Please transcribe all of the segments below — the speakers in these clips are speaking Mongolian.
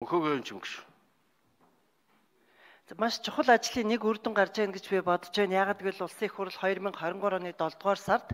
Мөхөөгөө юм гэж. Маш чухал ажлын нэг үр дүн гарч ийн гэж би бодож байна. Яагаад гэвэл улсын их хурл 2023 оны 7 дугаар сард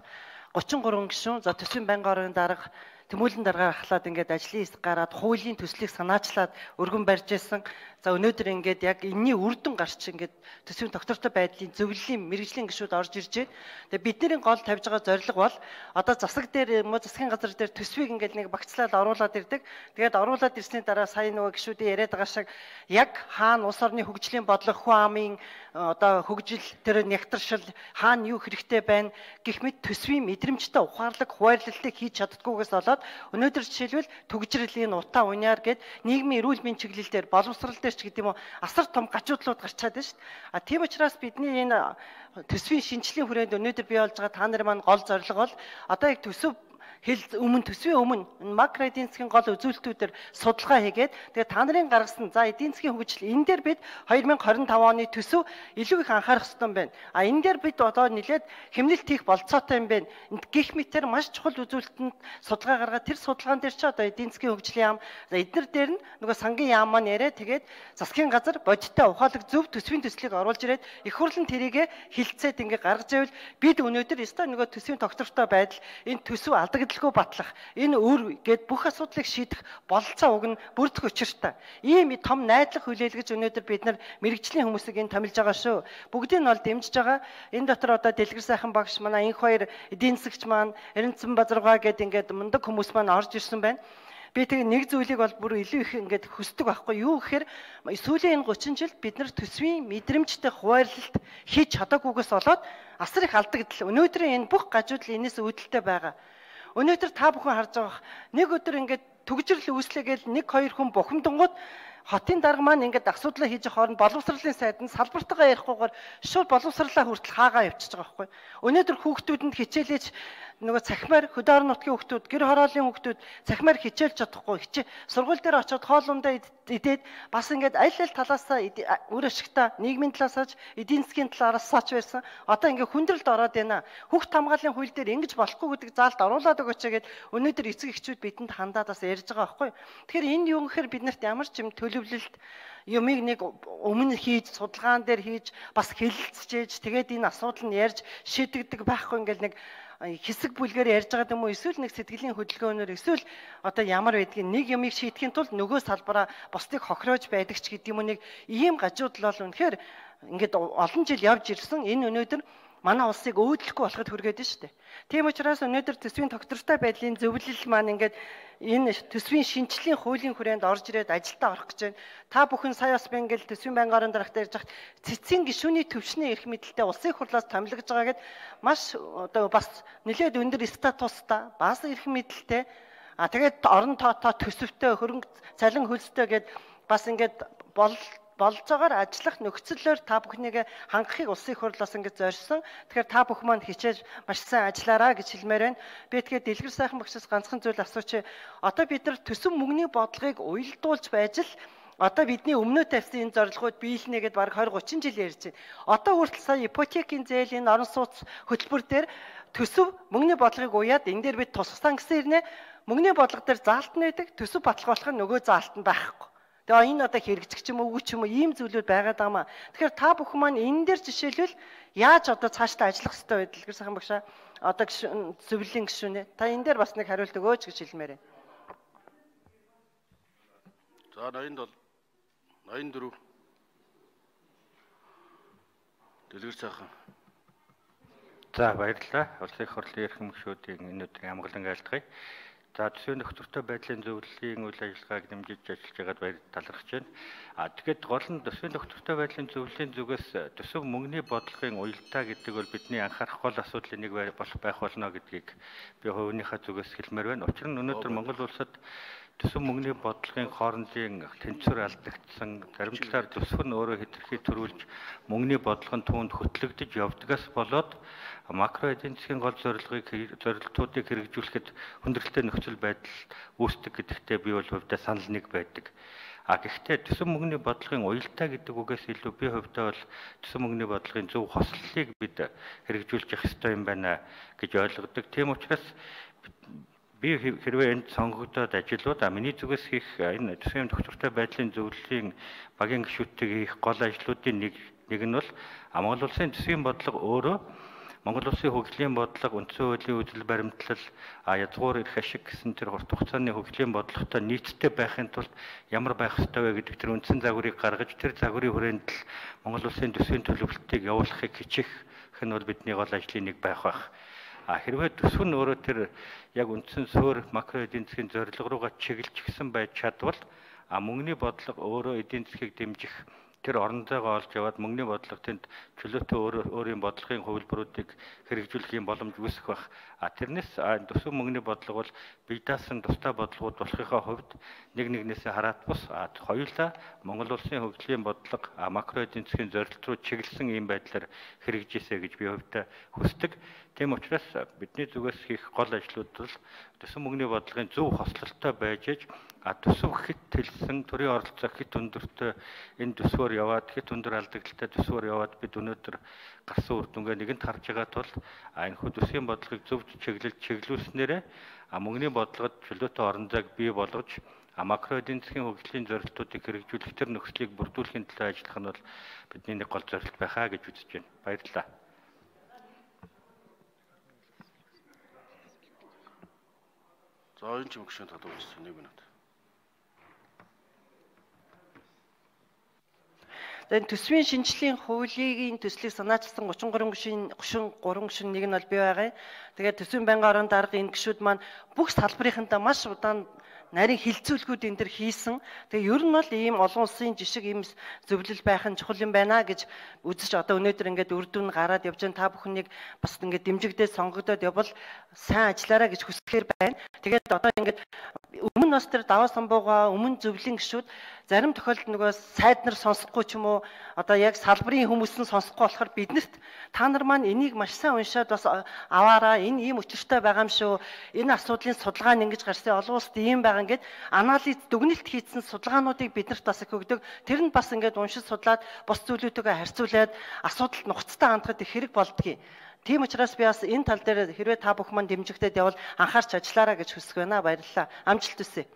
33 гишүүн за төсвийн байнгын орон дарга тэмүүлэн даргаар ахлаад ингээд ажлын хэсэг гараад хуулийн төслийг санаачлаад өргөн барьж исэн. За өнөөдөр ингээд яг энэний үр дүн гарч ингээд төсвийн доктортой байдлын зөвлөлийн мэрэгжлийн гишүүд орж ирж байна. Тэгээ бидний гол тавьж байгаа зорилго бол одоо засаг дээр засгийн газар дээр төсвийг ингээд нэг багцлаад оруулаад ирдэг. Тэгээд оруулаад ирсний дараа сая нөгөө гишүүдийн яриад байгаа шиг яг хаана улс орны хөгжлийн бодлого хүн амын одоо хөгжил тэр нягтршил хаана юу хэрэгтэй байна гэх мэт төсвийн мэдрэмжтэй ухаарлаг хуваарлалтыг хийж чаддгүйгээс болоод өнөөдөр жишээлбэл түгжрэлийн утаа уняар гээд нийгмийн эрүүл мэндийн чиглэлээр боловсрал дээр ч гэдэг юм уу асар том гажуудлууд гарч чадсан шүү дээ. Тийм учраас бидний энэ төсвийн шинжилгээний хүрээнд өнөөдөр бий болж байгаа та нарын маань гол зорилго бол одоо яг төсөв төсвийн өмнө макро эдийн засгийн гол үзүүлэлтүүдээр судалгаа хийгээд тэгээ та нарын гаргасан за эдийн засгийн хөгжил энэ дээр бид 2025 оны төсөв илүү их анхаарах хэрэгтэй юм байна. А энэ дээр бид одоо нэлээд хэмнэлт хийх болцоотой юм байна. Гэх мэтээр маш чухал үзүүлэлтэнд судалгаа гаргаад тэр судалгаан дээр ч одоо эдийн засгийн хөгжлийн яам за эднэр дээр нь нөгөө сангийн яам маань яриа тэгээд засгийн газар бодиттой ухаалаг зөв төсвийн төслийг оруулж ирээд их хурлын тэрийгэ хилцээд ингээ гаргаж ивэл бид өнөөдөр өстой нөгөө төсвийн доктортой байдал энэ төсөв алдагдaltaгүй батлах энэ өөр гээд бүх асуудлыг шийдэх бололцоо уг нь бүрдэх учиртай. Ийм том найдлах хүлээлгэж өнөөдөр бид нар мэрэгжлийн хүмүүсийг энэ томилж байгаа шүү. Бүгдийг нь бол дэмжиж байгаа. Энэ дотор одоо Дэлгэр сайхан багш манай энх хоёр эдийн засагч маань Эренцэн Базаргаа гээд ингээд мундаг хүмүүс маань орж ирсэн байна. Би тэгээ нэг зүйлийг бол бүр илүү их ингээд хүсдэг байхгүй юу гэхээр сүүлийн энэ 30 жилд бид нар төсвийн мэдрэмжтэй хуваарлалт хийж чадаагүйгээс болоод асар их алдагдал. Өнөөдрийн энэ бүх гажуудл энэс үүдэлтэй байгаа. Өнөөдөр та бүхэн харж байгаа нэг өдөр ингээд түгжрэл үүслэгээл 1-2 хүн бухимдангууд хотын дарга маань ингээд асуудлаа хийж хооронд боловсролын сайд нь салбартайгаа ярихгүйгээр шууд боловсрлаа хүртэл хаагаа явчихж байгаа байхгүй. Өнөөдөр хүүхдүүдэнд хичээлж нөгөө цахимаар хөдөө орон нутгийн хүүхдүүд, гэр хорооллын хүүхдүүд цахимаар хичээлж чадахгүй. Сургууль дээр очиод хоолундаа идээд бас ингээд аль талаасаа үр ашигтай нийгмийн талаасаач эдийн засгийн талаараас байсан. Одоо ингээд хүндрэлд ороод байна. Хүүхд хамгааллын хууль дээр ингэж болохгүй гэдэг заалт оруулаад өгөөч гэгээд өнөөдөр эцэг эхчүүд бидэнд хандаад бас ярьж байгаа байхгүй. Тэгэхээр энэ юу гэхээр биднэрт ямар ч юм төлөвлөлт юмыг нэг өмнө хийж судалгаан дээр хийж бас хэлэлцэж тэгээд энэ асуудал нь ярьж шийдэгдэг байхгүй ингээл нэг хэсэг бүлгээр ярьж байгаа юм уу эсвэл нэг сэтгэлийн хөдөлгөөнөөр эсвэл одоо ямар байдгийг нэг юмыг шийдэхин тулд нөгөө салбараа бусдыг хохироож байдаг ч гэдэг юм уу нэг ийм гажуудал бол үнэхээр ингээд олон жил явж ирсэн энэ өнөөдөр манай улсыг өөдлөхгүй болоход хүргээд байна шүү дээ. Тийм учраас өнөөдөр төсвийн доктортой байдлын зөвлөл маань ингээд энэ төсвийн шинжилгээний хуулийн хүрээнд орж ирээд ажилдаа орох гэж байна. Та бүхэн сая бас би ингээд төсвийн байнгын орон дарагтай ярьж хахад цэцгийн гишүүний төвшний эрх мэдэлтэй улсын хурлаас томилгож байгаа гэд маш одоо бас нэлээд өндөр статустай бас эрх мэдэлтэй тэгээд орон тоотоо төсөвтэй хөрөнгө цалин хөлстэй гэд бас ингээд болж байгаагаар ажиллах нөхцөлөөр та бүхнийг хангахыг улсын хурлаас ингэж зорьсон. Тэгэхээр та бүхэн маань хичээж маш сайн ажиллаарай гэж хэлмээр байна. Би тэгээд Дэлгэр сайхан багшаас ганцхан зүйл асууч. Одоо бид нар төсөв мөнгөний бодлогыг уялдуулж байж л одоо бидний өмнөө тавьсан энэ зорилгууд биелнэ гэдээ баг 20-30 жил ярьж байна. Одоо хүртэл сая ипотекийн зээлийн орон сууц хөтөлбөр дээр төсөв мөнгөний бодлогыг уяад энэ дээр бид тусгасан гэсэн хэрнээ мөнгөний бодлого дээр заалт нь байдаг. Төсөв баталгаажуулах нь нөгөө заалт нь байхгүй. Тэгээ энэ одоо хэрэгжих ч юм уу үгүй ч юм уу ийм зүйлүүд байгаад байгаа маа. Тэгэхээр та бүхэн маань энэ дээр жишээлбэл яаж одоо цаашдаа ажиллах хэрэгтэй вэ? Дэлгэр сайхан багшаа одоо зөвлөлийн гишүүнээ. Та энэ дээр бас нэг хариулт өгөөч гэж хэлмээр байна. За 87 84 Дэлгэр сайхан. За баярлалаа. Улсын их хурлын эрхэм гишүүдийн энэ өдрийн амгалан айлтгая. За төсвийн доктортой байдлын зөвлөлийн үйл ажиллагааг дэмжиж ажиллаж байгаад талархаж байна. Тэгэхээр гол нь төсвийн доктортой байдлын зөвлөлийн зүгээс төсөв мөнгөний бодлогын уялдаа гэдэг бол бидний анхаарах гол асуудлын нэг байх болно гэдгийг би хувийнхаа зүгээс хэлмээр байна. Учир нь өнөөдөр Монгол улсад төсөв мөнгөний бодлогын хоорондын тэнцвэр алдагдсан, зарим талаар төсөв нь өөрөө хэтэрхий төрүүлж мөнгөний бодлогын түүнд хөтлөгдөж явдгаас болоод макро эдийн засгийн гол зорилтуудыг хэрэгжүүлэхэд хүндрэлтэй нөхцөл байдал үүсдэг гэдэгтээ би бол хувьдаа санал нэг байдаг. Гэхдээ төсөв мөнгөний бодлогын уялдаа гэдэг үгээс илүү би хувьдаа бол төсөв мөнгөний бодлогын зөв хослолыг бид хэрэгжүүлж явах ёстой юм байна гэж ойлгодог. Тийм учраас би хэрвээ энд сонгогдоод ажилууд миний зүгээс хийх энэ төсвийн доктортой байдлын зөвлөлийн багийн гишүүдтэйг хийх гол ажлуудын нэг нь бол Монгол улсын төсвийн бодлого өөрөө Монгол улсын хөгжлийн бодлого, үндсэн хуулийн үзэл баримтлал, язгуур эрх ашиг гэсэн тэр урт хугацааны хөгжлийн бодлоготой нийцтэй байхын тулд ямар байх ёстой вэ гэдэг тэр үндсэн загварыг гаргаж тэр загварын хүрээнд л Монгол улсын төсвийн төлөвлөлтийг явуулахыг хичээх нь бол бидний гол ажлын нэг байх. Хэрвээ төсөв нь өөрөө тэр яг үндсэн суурь макро эдийн засгийн зорилго руугаа чиглэж гисэн байж чадвал мөнгөний бодлого өөрөө эдийн засгийг дэмжих тэр орон зайгаа олж яваад мөнгөний бодлого тэнд чөлөөтэй өөрийн бодлогын хувилбаруудыг хэрэгжүүлэх боломж үүсэх байх. Тэрнээс төсөв мөнгөний бодлого бол бие даасан тустай бодлогууд болохынхаа хувьд нэгнээсээ хараат бус хоёулаа Монгол улсын хөгжлийн бодлого макро эдийн засгийн зорилт руу чиглэсэн ийм байдлаар хэрэгжижээ гэж би хувьдаа хүсдэг. Тийм учраас бидний зүгээс хийх гол ажлууд бол төсөв мөнгөний бодлогын зөв хослолтой байж төсөв хит тэлсэн төрийн оролцоо хит өндөртэй энэ төсвөөр яваад хит өндөр алдагдлалтай төсвөөр яваад бид өнөөдөр гарсан үр дүнгээ нэгэнт харж байгаа тул энэ хүү төсвийн бодлогыг зөв чиглүүлснээрээ мөнгөний бодлогод чөлөөтэй орон зайг бий болгож макро эдийн засгийн хөгжлийн зорилтуудыг хэрэгжүүлэх тэр нөхцөлийг бүрдүүлэхийн төлөө ажиллах нь бол бидний нэг гол зорилт байхаа гэж үзэж байна. Баярлалаа. За энэ ч мөгшөнд татуулсан 1 минут. Тэгээд төсвийн шинжилгээний хуулийн төслийг санаачилсан 33 гишүүн 3 гишүүн нэг нь бол бий байгаа. Тэгээд төсвийн байнгын орон дарга энэ гишүүд маань бүх салбарынхандаа маш удаан нарийн хилцүүлгүүд энэ төр хийсэн. Тэгээ ер нь бол ийм олон улсын жишг ийм зөвлөл байх нь чухал юм байна гэж үзэж одоо өнөөдөр ингээд үр дүн гараад явж байгаа та бүхнийг бас ингээд дэмжигдээд сонгогдоод явбал сайн ажиллаарай гэж хүсэхээр байна. Тэгээд одоо ингээд өмнө нас тэр даваа самбууга өмнө зөвлөлийн гишүүд зарим тохиолдолд нөгөө сайд нар сонсохгүй ч юм уу одоо яг салбарын хүмүүс нь сонсохгүй болохоор биднэрт та нар маань энийг маш сайн уншаад бас аваараа энэ ийм учиртай байгаа юм шүү. Энэ асуудлын судалгаа нь ингэж гарсан олон улсад ийм байгаа ингээд анализ дүгнэлт хийсэн судалгаануудыг биднэрт бас их өгдөг. Тэр нь бас ингээд уншиж судлаад бус зүйлүүдтэйгээ харьцуулаад асуудалд нухацтай хандахад их хэрэг болдгийг. Тийм учраас би бас энэ тал дээр хэрвээ та бүх маань дэмжигдээд явбал анхаарч ажиллаарай гэж хүсэж байна. Баярлалаа. Амжилт хүсье.